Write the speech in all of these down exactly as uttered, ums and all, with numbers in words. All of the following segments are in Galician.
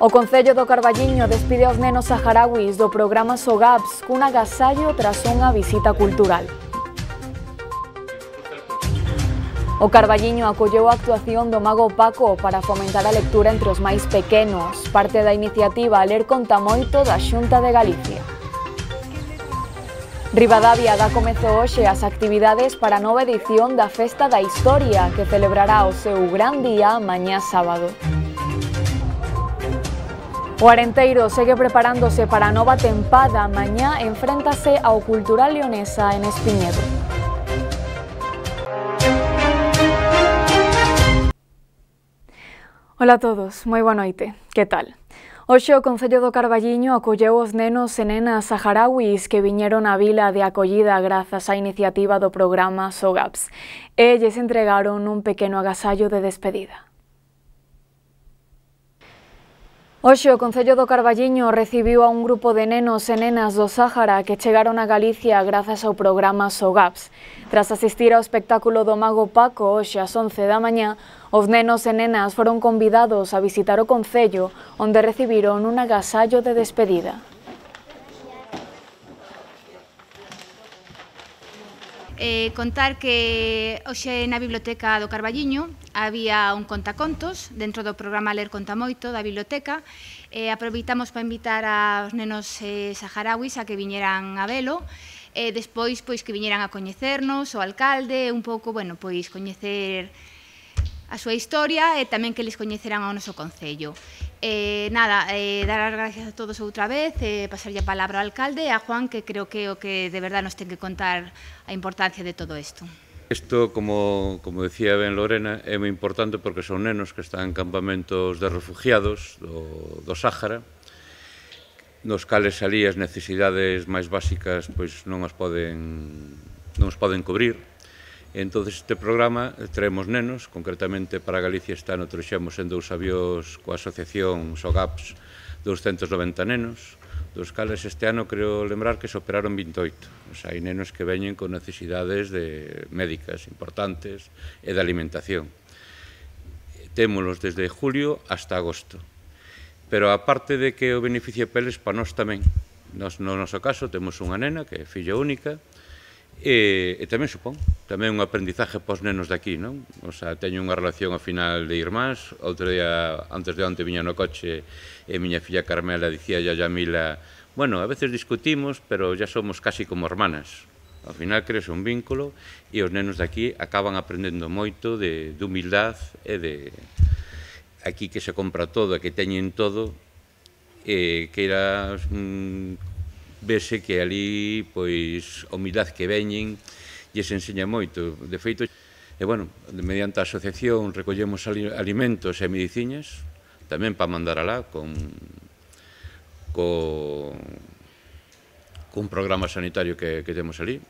O Concello do Carballiño despide aos nenos saharauis do programa SOGAPS cun agasallo tras unha visita cultural. O Carballiño acolleu a actuación do Mago Paco para fomentar a lectura entre os máis pequenos, parte da iniciativa Ler conta moito da Xunta de Galicia. Ribadavia dá comezo hoxe as actividades para a nova edición da Festa da Historia, que celebrará o seu gran día mañá sábado. O Arenteiro segue preparándose para a nova tempada, mañá enfréntase ao Cultural Leonesa en Espiñedo. Ola a todos, moi boa noite, que tal? Hoxe o Concello do Carballiño acolleu os nenos e nenas saharauis que viñeron á vila de acollida grazas á iniciativa do programa SOGAPS e lles entregaron un pequeno agasallo de despedida. Hoxe o Concello do Carballiño recibiu a un grupo de nenos e nenas do Sáhara que chegaron a Galicia grazas ao programa SOGAPS. Tras asistir ao espectáculo do Mago Paco hoxe ás once da mañá, os nenos e nenas foron convidados a visitar o Concello, onde recibiron un agasallo de despedida. Eh, contar que hoxe na Biblioteca do Carballiño había un contacontos dentro do programa Ler conta moito da biblioteca. Eh, aproveitamos para invitar aos nenos eh, saharauis a que viñeran a velo, e despois pois que viñeran a coñecernos o alcalde, un pouco, bueno, pois coñecer a súa historia e tamén que les coñeceran ao noso concello. Eh, nada, eh, dar as gracias a todos outra vez, eh, pasarlle a palabra ao alcalde e a Juan, que creo que é o que de verdad nos ten que contar a importancia de todo isto. Isto, como, como decía ben Lorena, é moi importante porque son nenos que están en campamentos de refugiados do, do Sáhara, nos cales ali as necesidades máis básicas pois non as poden, non os poden cubrir. Entón, este programa traemos nenos, concretamente para Galicia este ano trouxemos en dous avións coa asociación SOGAPS doscientos noventa nenos, dos cales este ano creo lembrar que se operaron vinte e oito. O sea, hai nenos que veñen con necesidades de médicas importantes e de alimentación. Témolos desde julio hasta agosto. Pero aparte de que o beneficio peles, para nós tamén. Nos, no noso caso temos unha nena que é filla única, E, e tamén supón, tamén un aprendizaje pos nenos de aquí, non? O sea, teño unha relación ao final de irmáns. Outro día, antes de onte, viña no coche e miña filla Carmela dicía a Yamila, bueno, a veces discutimos, pero ya somos casi como hermanas. Ao final crees un vínculo e os nenos de aquí acaban aprendendo moito de, de humildade e de aquí que se compra todo e que teñen todo, e que era mm, vese que ali, pois, a humildade que veñen lles enseña moito. De feito, e, bueno, mediante a asociación recollemos alimentos e mediciñas, tamén para mandar alá con, con, con un programa sanitario que, que temos ali.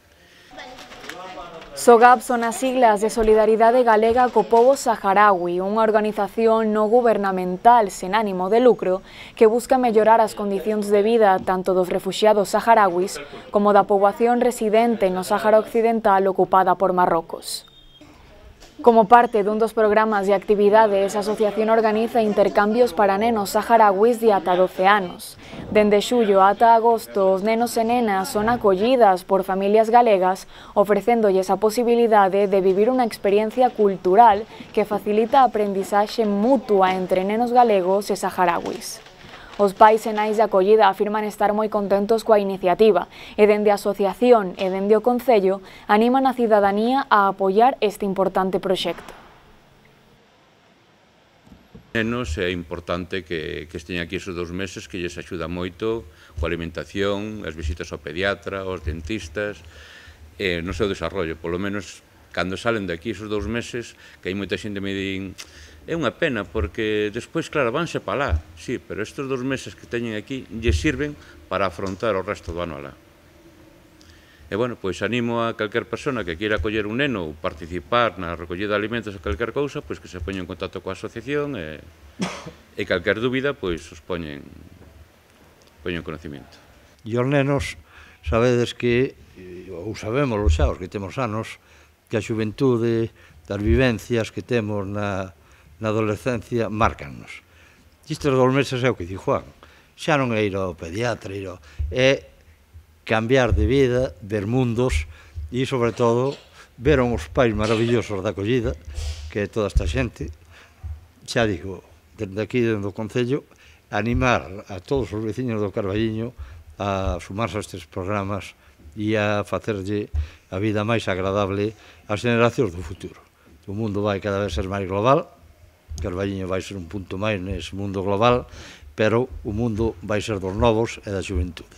SOGAPS son as siglas de Solidaridade Galega co Pobo Saharaui, unha organización non gubernamental sen ánimo de lucro que busca mellorar as condicións de vida tanto dos refuxiados saharauis como da poboación residente no Sáhara Occidental ocupada por Marrocos. Como parte dun dos programas de actividades, a asociación organiza intercambios para nenos saharauis de ata doce anos. Dende xullo ata agosto, os nenos e nenas son acollidas por familias galegas, ofrecéndolles a posibilidade de vivir unha experiencia cultural que facilita a aprendizaxe mutua entre nenos galegos e saharauis. Os pais e nais de acollida afirman estar moi contentos coa iniciativa e dende a asociación e dende o Concello animan a cidadanía a apoiar este importante proxecto. Nenos é importante que, que estén aquí esos dous meses que lles axuda moito coa alimentación, as visitas ao pediatra, aos dentistas, e no seu desarrollo. Polo menos, cando salen de aquí esos dous meses, que hai moita xente me din é unha pena, porque despois, claro, vanse para lá, sí, pero estes dous meses que teñen aquí lles sirven para afrontar o resto do ano alá. E, bueno, pois animo a calquer persona que queira acoller un neno ou participar na recollida de alimentos ou calquer cousa, pois que se poña en contacto coa asociación e, e calquer dúbida, pois os poñen, poñen conocimiento. E os nenos, sabedes que, ou sabémoslo xa, os que temos anos, que a xuventude, das vivencias que temos na, na adolescencia, márcannos. Isto dos meses é o que di Juan. Xa non é ir ao pediatra, ir ao... é cambiar de vida, ver mundos e, sobre todo, veron os pais maravillosos da acollida, que é toda esta xente. Xa digo, desde aquí, dentro do Concello, animar a todos os veciños do Carballiño a sumarse a estes programas e a facerlle a vida máis agradable ás generacións do futuro. O mundo vai cada vez ser máis global, Carballiño vai ser un punto máis nese mundo global, pero o mundo vai ser dos novos e da xuventude.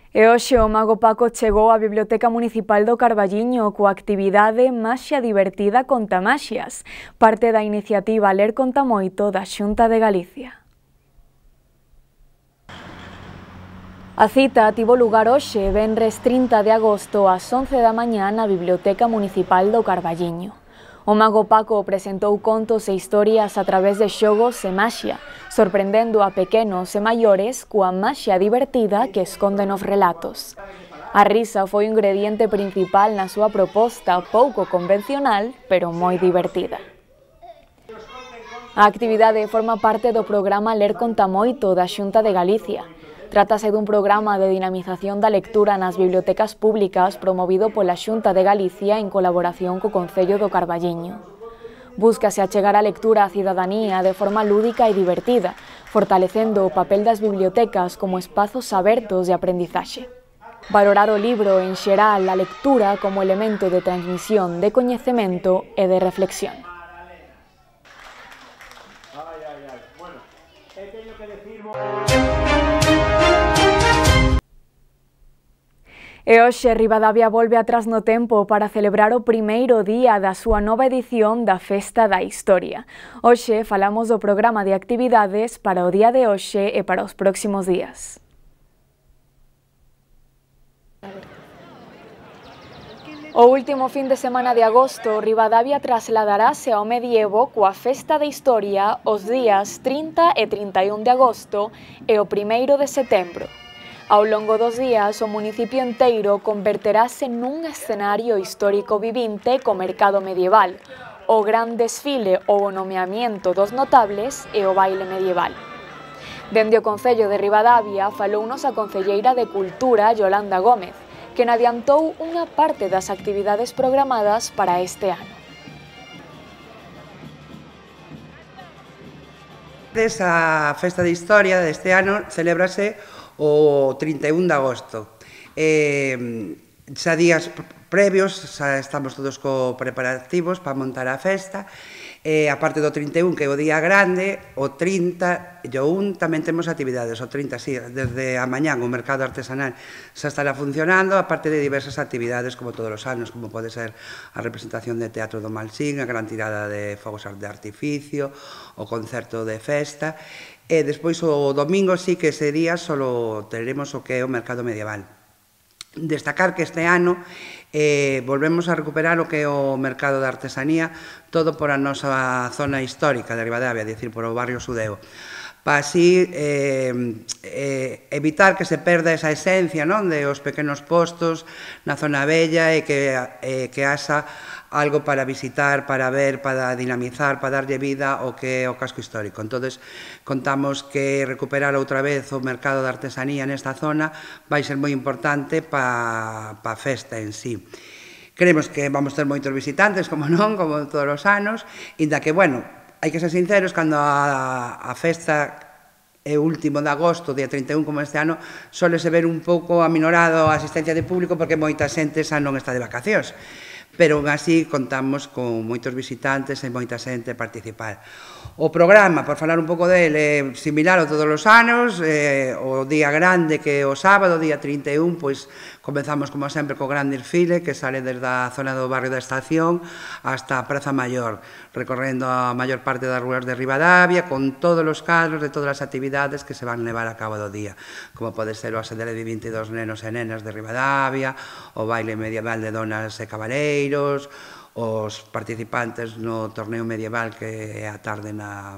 E hoxe o Mago Paco chegou á Biblioteca Municipal do Carballiño coa actividade Maxia Divertida Conta Maxias, parte da iniciativa Ler Conta Moito da Xunta de Galicia. A cita tivo lugar hoxe, venres trinta de agosto, ás once da mañá na Biblioteca Municipal do Carballiño. O Mago Paco presentou contos e historias a través de xogos e maxia, sorprendendo a pequenos e maiores coa maxia divertida que esconden os relatos. A risa foi o ingrediente principal na súa proposta pouco convencional, pero moi divertida. A actividade forma parte do programa Ler Conta Moito da Xunta de Galicia. Trátase dun programa de dinamización da lectura nas bibliotecas públicas promovido pola Xunta de Galicia en colaboración co Concello do Carballiño. Búscase achegar a lectura á cidadanía de forma lúdica e divertida, fortalecendo o papel das bibliotecas como espazos abertos de aprendizaxe. Valorar o libro en xeral a lectura como elemento de transmisión de coñecemento e de reflexión. E hoxe Ribadavia volve atrás no tempo para celebrar o primeiro día da súa nova edición da Festa da Historia. Hoxe falamos do programa de actividades para o día de hoxe e para os próximos días. O último fin de semana de agosto, Ribadavia trasladarase ao medievo coa Festa da Historia os días trinta e trinta e un de agosto e o primeiro de setembro. Ao longo dos días, o municipio enteiro converterase nun escenario histórico vivinte co mercado medieval, o gran desfile ou o nomeamiento dos notables e o baile medieval. Dende o Concello de Ribadavia falounos a concelleira de Cultura, Yolanda Gómez, que adiantou unha parte das actividades programadas para este ano. Esa Festa de Historia deste ano celébrase o trinta e un de agosto. Eh, xa días previos, xa estamos todos co preparativos para montar a festa. Eh, a parte do trinta e un, que é o día grande, o trinta e o un tamén temos actividades. O trinta, sí, desde a mañán o mercado artesanal xa estará funcionando, a parte de diversas actividades como todos os anos, como pode ser a representación de teatro do Malsín, a gran tirada de fogos de artificio, o concerto de festa. E despois o domingo sí que ese día solo teremos o que é o mercado medieval. Destacar que este ano eh, volvemos a recuperar o que é o mercado de artesanía, todo por a nosa zona histórica de Ribadavia, é dicir, por o barrio Sudeo, para así eh, eh, evitar que se perda esa esencia, non, de os pequenos postos na zona bella e que, eh, que haxa algo para visitar, para ver, para dinamizar, para darlle vida ao que é o casco histórico. Entonces, contamos que recuperar outra vez o mercado de artesanía nesta zona vai ser moi importante para a festa en sí. Creemos que vamos ter moitos visitantes, como non, como todos os anos, inda que, bueno, hai que ser sinceros, cando a, a festa é o último de agosto, día trinta e un, como este ano, sole se ver un pouco aminorado a asistencia de público porque moita xente xa non está de vacacións. Pero así contamos con moitos visitantes e moita xente a participar. O programa, por falar un pouco dele, é similar a todos os anos, eh, o día grande que é o sábado, día trinta e un, pois comenzamos como sempre co gran desfile que sale desde a zona do barrio da Estación hasta a Praza Maior, recorrendo a maior parte das ruas de Ribadavia con todos os cadros de todas as actividades que se van levar a cabo do día, como pode ser o ascendere de vinte e dos nenos e nenas de Ribadavia, o baile medieval de donas e cabaleiros, os participantes no torneo medieval que é a tarde na,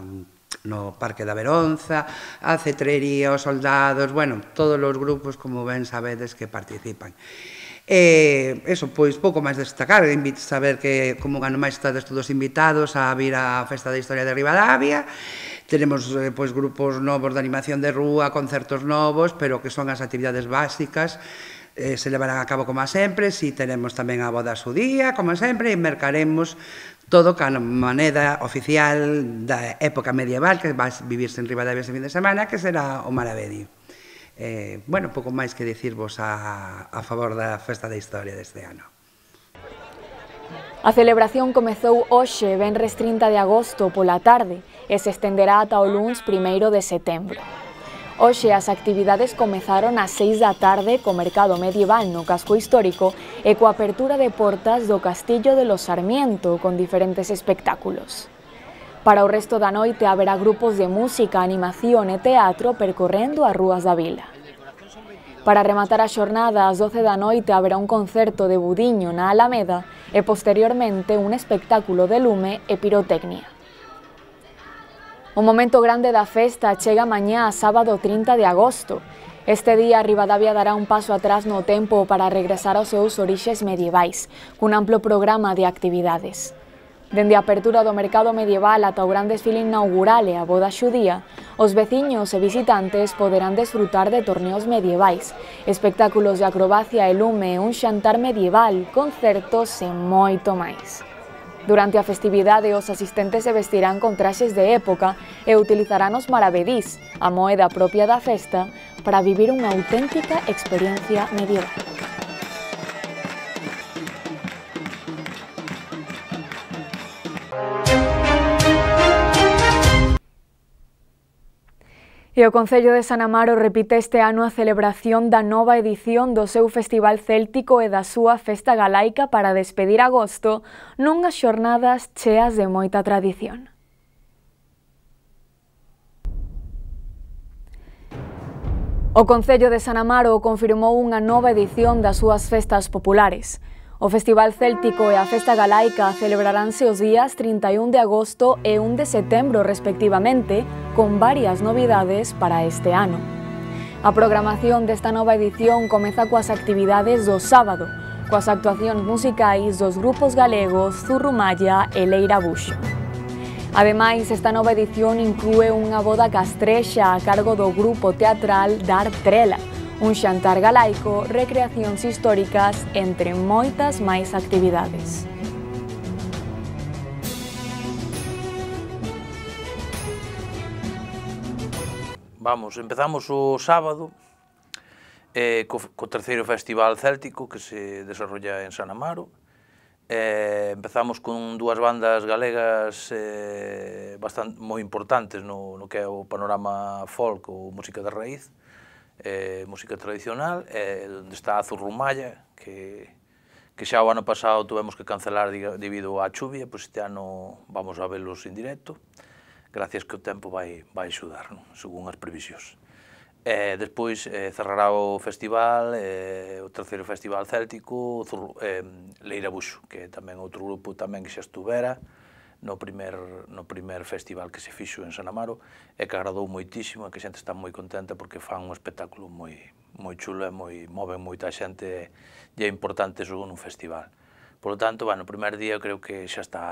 no Parque da Veronza, a cetrería, os soldados, bueno, todos os grupos, como ben sabedes, que participan. E, eso, pois, pouco máis destacar, saber que como un ano máis estades todos invitados a vir á Festa da Historia de Ribadavia. Tenemos, pois, grupos novos de animación de rúa, concertos novos, pero que son as actividades básicas, eh, se levarán a cabo como sempre. Si tenemos tamén a boda a su día, como sempre, e mercaremos todo ca moneda oficial da época medieval que vai vivirse en Ribadavia ese fin de semana, que será o Maravedí. Eh, bueno, pouco máis que dicirvos a, a favor da Festa da Historia deste ano. A celebración comezou hoxe, venres trinta de agosto, pola tarde, e se estenderá ata o luns primeiro de setembro. Hoxe as actividades comezaron ás seis da tarde co mercado medieval no casco histórico e coa apertura de portas do Castillo de los Sarmiento con diferentes espectáculos. Para o resto da noite haberá grupos de música, animación e teatro percorrendo as rúas da vila. Para rematar a xornada, ás doce da noite haberá un concerto de budiño na Alameda e posteriormente un espectáculo de lume e pirotecnia. O momento grande da festa chega mañá a sábado trinta de agosto. Este día, Ribadavia dará un paso atrás no tempo para regresar aos seus orixes medievais, cun amplo programa de actividades. Dende a apertura do mercado medieval ata o gran desfile inaugural e a boda xudía, os veciños e visitantes poderán desfrutar de torneos medievais, espectáculos de acrobacia e lume, un xantar medieval, concertos e moito máis. Durante a festividade, os asistentes se vestirán con traxes de época e utilizarán os maravedís, a moeda propia da festa, para vivir unha auténtica experiencia medieval. E o Concello de San Amaro repite este ano a celebración da nova edición do seu Festival Céltico e da súa Festa Galaica para despedir agosto nunhas xornadas cheas de moita tradición. O Concello de San Amaro confirmou unha nova edición das súas festas populares. O Festival Céltico e a Festa Galaica celebraránse os días trinta e un de agosto e un de setembro respectivamente, con varias novidades para este ano. A programación desta nova edición comeza coas actividades do sábado, coas actuacións musicais dos grupos galegos Zurrumalla e Leira Buxo. Ademais, esta nova edición inclúe unha boda castrexa a cargo do grupo teatral Dar Trela, un xantar galaico, recreacións históricas, entre moitas máis actividades. Vamos, empezamos o sábado eh, co, co terceiro Festival Céltico que se desarrolla en San Amaro. Eh, empezamos con dúas bandas galegas eh, bastante moi importantes no, no que é o panorama folk ou música de raíz, eh, música tradicional, eh, onde está a Zurrumalla, que, que xa o ano pasado tuvemos que cancelar debido á chuvia, pois este ano vamos a velos en directo, gracias que o tempo vai, vai axudar, non? Según as previsións. Eh, despois eh, cerrará o festival, eh, o terceiro Festival Céltico, eh, Leira Buxo, que é tamén outro grupo tamén que xa estuvera no primer, no primer festival que se fixo en San Amaro e que agradou moitísimo e que a xente está moi contenta porque fan un espectáculo moi, moi chulo e moi, moven moita xente e é importante eso nun festival. Por lo tanto, bueno, o primer día creo que xa está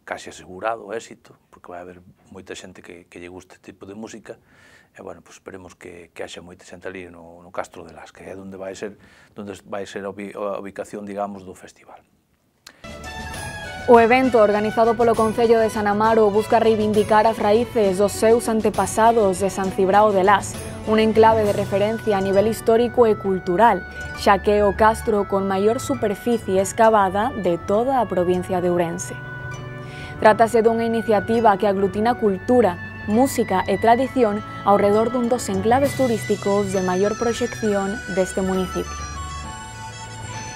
casi asegurado o éxito, porque vai haber moita xente que, que lle guste este tipo de música e, bueno, pues esperemos que, que haxa moita xente ali no, no Castro de Las, que é onde vai ser, onde vai ser a ubicación, digamos, do festival. O evento, organizado polo Concello de San Amaro, busca reivindicar as raíces dos seus antepasados de San Cibrao de Las, un enclave de referencia a nivel histórico e cultural, xa que é o castro con maior superficie excavada de toda a provincia de Ourense. Trátase dunha iniciativa que aglutina cultura, música e tradición ao redor dun dos enclaves turísticos de maior proxección deste municipio.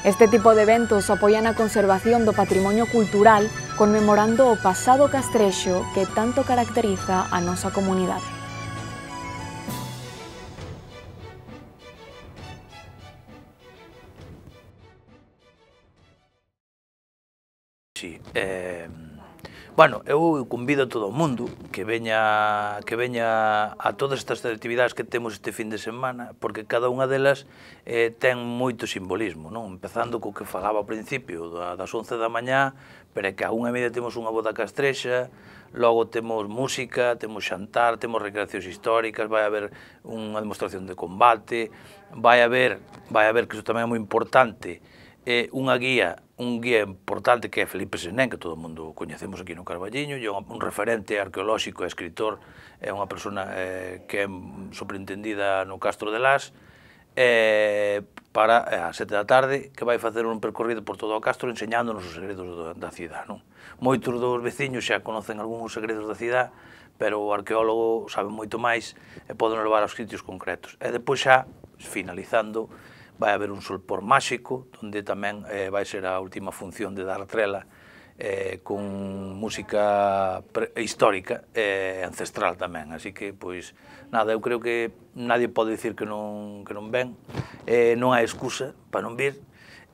Este tipo de eventos apoian a conservación do patrimonio cultural conmemorando o pasado castrexo que tanto caracteriza a nosa comunidade. Sí, eh, Bueno, eu convido a todo o mundo que veña, que veña a todas estas actividades que temos este fin de semana, porque cada unha delas eh, ten moito simbolismo, non? Empezando co que falaba ao principio, das once da mañá, pero é que a unha e media temos unha boda castrexa, logo temos música, temos xantar, temos recreacións históricas, vai haber unha demostración de combate, vai haber, vai haber, que iso tamén é moi importante, eh, unha guía, un guía importante que é Felipe Senén, que todo o mundo coñecemos aquí no Carballiño, e un referente arqueolóxico e escritor, é unha persona eh, que é superintendida no Castro de Las, eh, para eh, a sete da tarde, que vai facer un percorrido por todo o Castro enseñándonos os segredos da cidade, non? Moitos dos veciños xa conocen algúns segredos da cidade, pero o arqueólogo sabe moito máis e pode levar aos sitios concretos. E depois xa, finalizando, vai haber un solpor máxico, onde tamén eh, vai ser a última función de dar trela eh, con música histórica e eh, ancestral tamén. Así que, pois, nada, eu creo que nadie pode dicir que non, que non ven, eh, non hai excusa para non vir.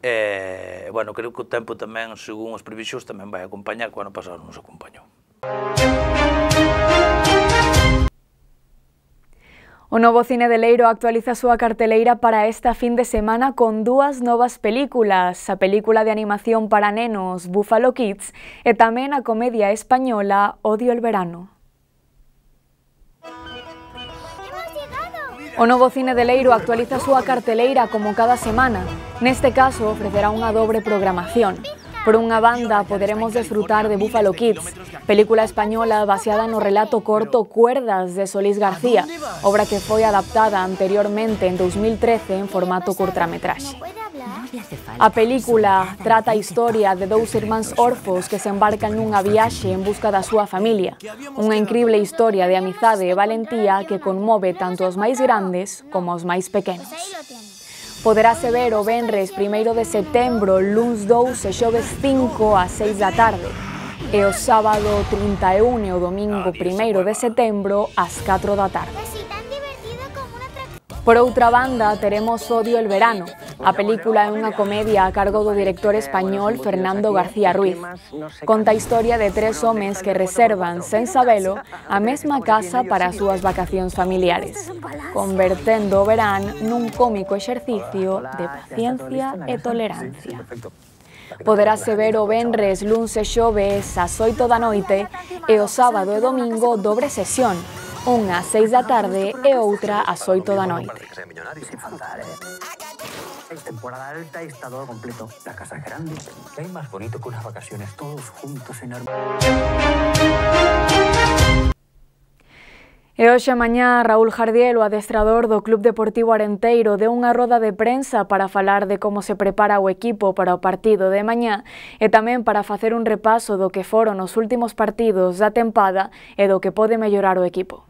Eh, bueno, creo que o tempo tamén, según as previsións, tamén vai acompañar, que o ano pasado nos acompañou. O novo Cine de Leiro actualiza a súa carteleira para esta fin de semana con dúas novas películas, a película de animación para nenos Buffalo Kids e tamén a comedia española Odio el verano. O novo Cine de Leiro actualiza a súa carteleira como cada semana. Neste caso, ofrecerá unha dobre programación. Por unha banda, poderemos desfrutar de Buffalo Kids, película española baseada no relato corto Cuerdas de Solís García, obra que foi adaptada anteriormente en dos mil trece en formato curtametraxe. A película trata a historia de dous irmáns orfos que se embarcan nunha viaxe en busca da súa familia, unha incrible historia de amizade e valentía que conmove tanto os máis grandes como os máis pequenos. Poderase ver o venres primeiro de setembro, luns dous e xoves cinco ás seis da tarde, e o sábado trinta e un e o domingo primeiro de setembro ás catro da tarde. Por outra banda, teremos Odio el verano. A película é unha comedia a cargo do director español Fernando García Ruiz. Conta a historia de tres homes que reservan, sen sabelo, a mesma casa para as súas vacacións familiares, convertendo o verán nun cómico exercicio de paciencia e tolerancia. Poderase ver o venres, luns e xoves ás oito da noite e o sábado e domingo dobre sesión, unha ás seis da tarde e outra ás oito da noite. Temporada alta y está todo completo. La casa es grande. ¿Qué hay más bonito que unas vacaciones todos juntos en armonía? E hoxe mañá Raúl Jardiel, o adestrador do Club Deportivo Arenteiro, deu unha roda de prensa para falar de como se prepara o equipo para o partido de mañá e tamén para facer un repaso do que foron os últimos partidos da tempada e do que pode mellorar o equipo.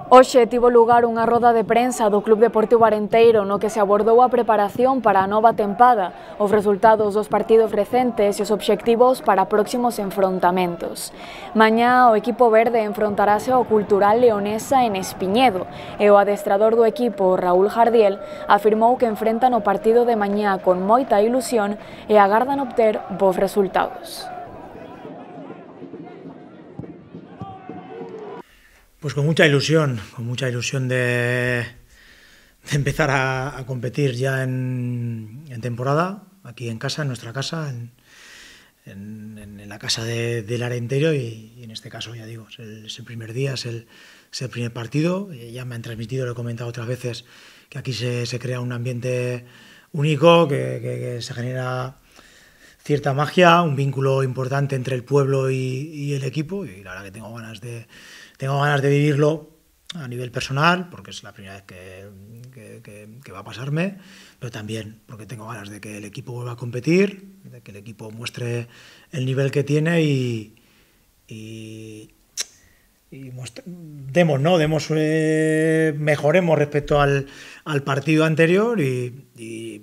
Hoxe tivo lugar unha roda de prensa do Club Deportivo Arenteiro no que se abordou a preparación para a nova tempada, os resultados dos partidos recentes e os obxectivos para próximos enfrontamentos. Mañá o equipo verde enfrontarase ao Cultural Leonesa en Espiñedo e o adestrador do equipo, Raúl Jardiel, afirmou que enfrentan o partido de mañá con moita ilusión e agardan obter bons resultados. Pues con mucha ilusión, con mucha ilusión de, de empezar a, a competir ya en, en temporada, aquí en casa, en nuestra casa, en, en, en la casa de, del Arenteiro y, y en este caso, ya digo, es el, es el primer día, es el, es el primer partido. Ya me han transmitido, lo he comentado otras veces, que aquí se, se crea un ambiente único, que, que, que se genera cierta magia, un vínculo importante entre el pueblo y, y el equipo, y la verdad que tengo ganas de... Tengo ganas de vivirlo a nivel personal, porque es la primera vez que, que, que, que va a pasarme, pero también porque tengo ganas de que el equipo vuelva a competir, de que el equipo muestre el nivel que tiene y, y, y muestre, demos, ¿no? Demos, eh, mejoremos respecto al, al partido anterior y, y,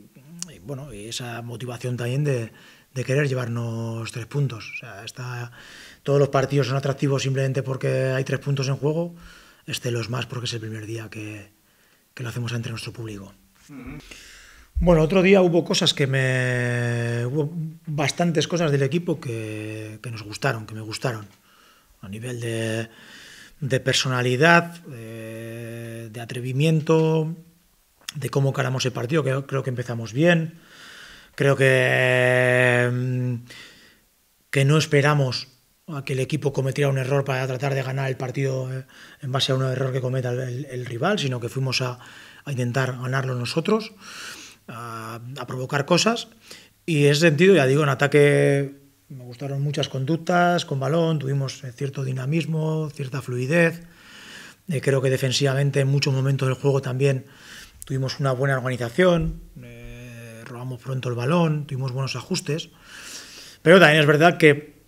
y, bueno, y esa motivación también de, de querer llevarnos tres puntos. O sea, está... Todos los partidos son atractivos simplemente porque hay tres puntos en juego, este los más porque es el primer día que, que lo hacemos entre nuestro público. Uh-huh. Bueno, otro día hubo cosas que me... Hubo bastantes cosas del equipo que, que nos gustaron, que me gustaron, a nivel de, de personalidad, de, de atrevimiento, de cómo caramos el partido, que creo que empezamos bien, creo que, que no esperamos a que el equipo cometiera un error para tratar de ganar el partido en base a un error que cometa el, el rival, sino que fuimos a, a intentar ganarlo nosotros, a, a provocar cosas. Y en ese sentido, ya digo, en ataque me gustaron muchas conductas con balón, tuvimos cierto dinamismo, cierta fluidez. Eh, creo que defensivamente en muchos momentos del juego también tuvimos una buena organización, eh, robamos pronto el balón, tuvimos buenos ajustes. Pero también es verdad que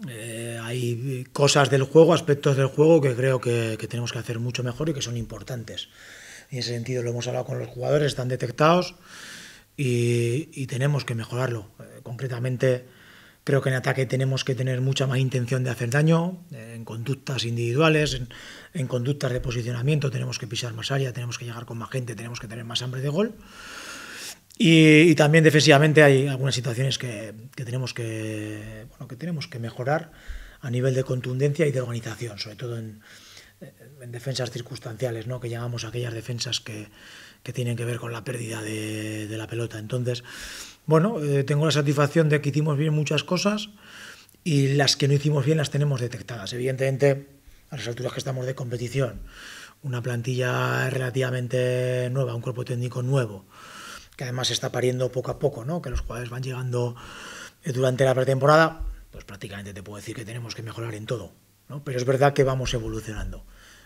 Eh, hay cosas del juego, aspectos del juego que creo que, que tenemos que hacer mucho mejor y que son importantes. En ese sentido lo hemos hablado con los jugadores, están detectados y, y tenemos que mejorarlo. Eh, concretamente creo que en ataque tenemos que tener mucha más intención de hacer daño, eh, en conductas individuales, en, en conductas de posicionamiento tenemos que pisar más área, tenemos que llegar con más gente, tenemos que tener más hambre de gol. Y, y también defensivamente hay algunas situaciones que, que, tenemos que, bueno, que tenemos que mejorar a nivel de contundencia y de organización, sobre todo en, en defensas circunstanciales, ¿no? Que llamamos a aquellas defensas que, que tienen que ver con la pérdida de, de la pelota. Entonces, bueno, eh, tengo la satisfacción de que hicimos bien muchas cosas y las que no hicimos bien las tenemos detectadas. Evidentemente, a las alturas que estamos de competición, una plantilla relativamente nueva, un cuerpo técnico nuevo, que además se está pariendo poco a poco, ¿no? Que los jugadores van llegando durante la pretemporada, pues prácticamente te puedo decir que tenemos que mejorar en todo, ¿no? Pero es verdad que vamos evolucionando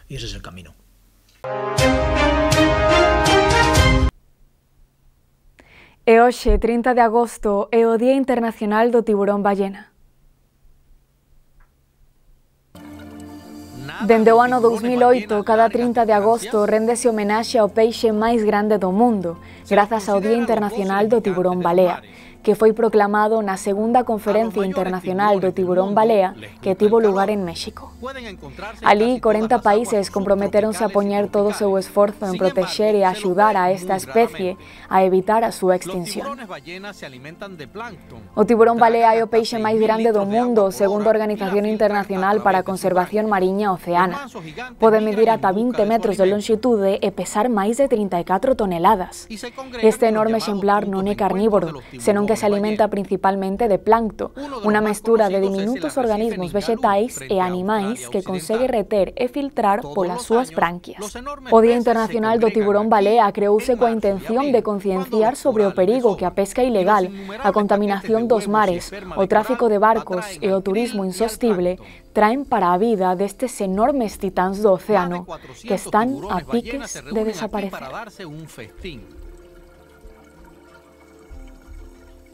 y ese es el camino. E hoxe, trinta de agosto, é o Día Internacional do Tiburón Ballena. Dende o ano dous mil oito, cada trinta de agosto réndese homenaxe ao peixe máis grande do mundo, grazas ao Día Internacional do Tiburón Balea, que foi proclamado na segunda Conferencia Internacional do Tiburón Balea que tivo lugar en México. Alí, corenta países comprometeronse a poñer todo o seu esforzo en protexer e axudar a esta especie a evitar a súa extinción. O tiburón balea é o peixe máis grande do mundo, segundo a Organización Internacional para a Conservación Mariña Oceana. Pode medir ata vinte metros de longitude e pesar máis de trinta e catro toneladas. Este enorme exemplar non é carnívoro, senón que se alimenta principalmente de plancto, unha mestura de diminutos organismos vegetais e animais que consegue reter e filtrar polas súas branquias. O Día Internacional do Tiburón Balea creouse coa intención de concienciar sobre o perigo que a pesca ilegal, a contaminación dos mares, o tráfico de barcos e o turismo insostible traen para a vida destes enormes titáns do océano que están a piques de desaparecer.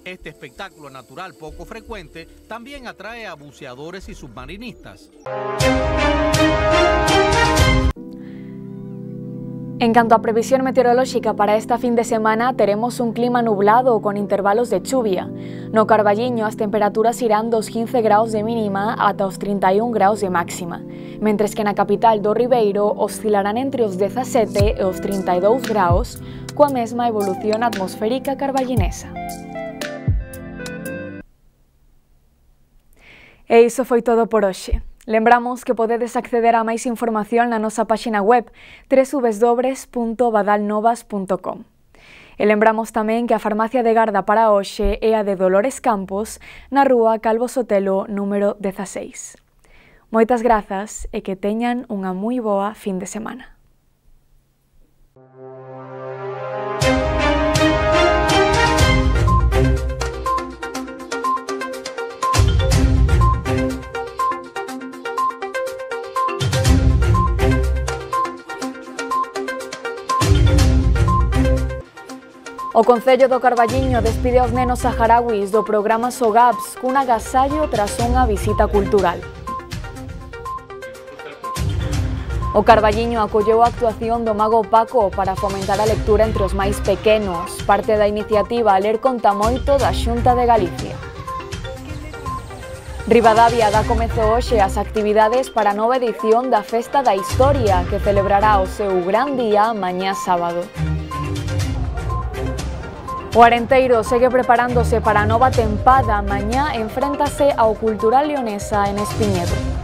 Este espectáculo natural poco frecuente también atrae a buceadores y submarinistas. En canto a previsión meteorolóxica para esta fin de semana, teremos un clima nublado con intervalos de chuvia. No Carballiño as temperaturas irán dos quince graus de mínima ata os trinta e un graus de máxima, mentres que na capital do Ribeiro oscilarán entre os dezasete e os trinta e dous graus, coa mesma evolución atmosférica carballinesa. E iso foi todo por hoxe. Lembramos que podedes acceder a máis información na nosa páxina web w w w punto badalnovas punto com. E lembramos tamén que a farmacia de garda para hoxe é a de Dolores Campos, na rúa Calvo Sotelo, número dezaseis. Moitas grazas e que teñan unha moi boa fin de semana. O Concello do Carballiño despide aos nenos saharauis do programa SOGAPS cun agasallo tras unha visita cultural. O Carballiño acolleu a actuación do Mago Paco para fomentar a lectura entre os máis pequenos, parte da iniciativa Ler Conta Moito da Xunta de Galicia. Ribadavia dá comezo hoxe as actividades para a nova edición da Festa da Historia, que celebrará o seu gran día mañá sábado. O Arenteiro segue preparándose para a nova tempada. Mañá enfréntase ao Cultural Leonesa en Espiñedo.